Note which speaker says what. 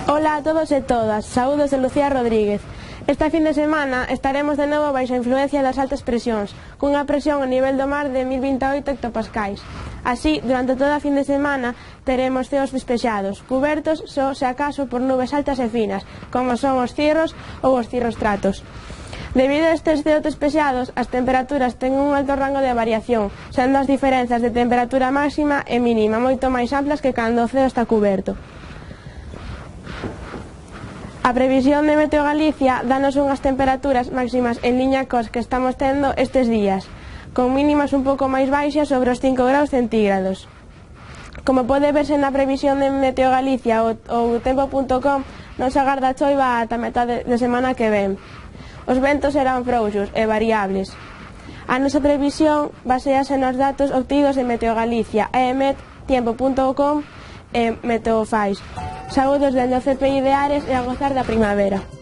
Speaker 1: Ola a todos e todas, saúdos de Lucía Rodríguez. Esta fin de semana estaremos de novo baixo a influencia das altas presións, cunha presión a nivel do mar de 1028 hectopascais. Así, durante toda a fin de semana, teremos ceos despexados, cubertos só se acaso por nubes altas e finas, como son os cirros ou os cirrostratos. Debido a estes ceos despexados, as temperaturas ten un alto rango de variación, sendo as diferenzas de temperatura máxima e mínima moito máis amplas que cando o ceo está cuberto. A previsión de Meteo Galicia danos unhas temperaturas máximas en liña cos que estamos tendo estes días, con mínimas un pouco máis baixas sobre os 5 graus centígrados. Como pode verse na previsión de Meteo Galicia ou tempo.com, non se agarda choiva ata metade de semana que ven. Os ventos serán frouxos e variables. A nosa previsión basease nos datos obtidos de Meteo Galicia, EMET, tempo.com e Meteofais. Saúdos dende o CPI de Ares e a gozar da primavera.